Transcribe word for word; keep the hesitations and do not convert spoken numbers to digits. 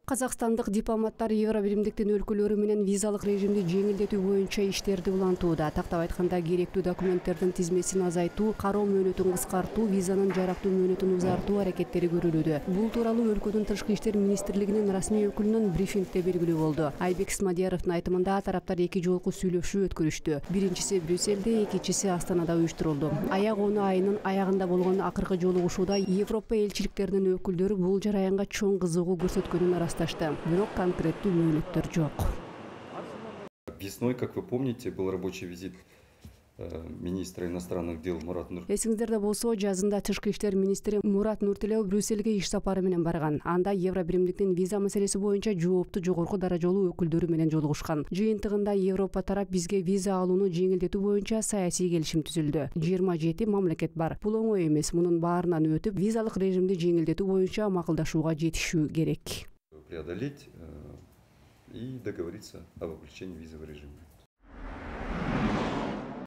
Казакстандык дипломаттар Евробиримдиктин өлкөлөрү менен визалык режимди жеңилдетүү боюнча иштерди улантууда. Тактап айтканда, керектүү документтердин тизмесин азайтуу, кароо мөөнөтүн кыскартуу, визанын жарактуу мөөнөтүн узартуу аракеттери көрүлүүдө. Бул тууралуу өлкөнүн тышкы иштер министрлигинин расмий өкүлүнүн брифингде белгилүү болду. Айбек Исмадияровдун айтымында, тараптар эки жолку сүйлөшүү өткөрүштү. Биринчиси Брюссельде, экинчиси Астанада уюштурулду. Аяк ону айынын аягында болгон акыркы жолугушууда Европа элчиликтеринин өкүлдөрү бул жараянга чоң кызыгуу көрсөткөнүн арасташты. Бирок конкреттүү мөөнөттөр жок. Весной, как вы помните, был рабочий визит министра иностранных дел Мурат Нуртилеев. Эсиңиздерде болсо, жазында тышкы иштер министри Мурат Нуртилеев Брюссельге иш сапары менен барган. Анда Евробиримдиктин виза маселеси боюнча жооптуу жогорку даражалуу өкүлдөрү менен жолугушкан. Жыйынтыгында Европа тарап бизге виза алууну жеңилдетүү боюнча саясий келишим түзүлдү. жыйырма жети мамлекет бар. Бул оңой эмес. Мунун баарынан өтүп, визалык режимди жеңилдетүү боюнча макулдашууга жетишүү керек. Преодолеть и договориться об облегчении визового режима.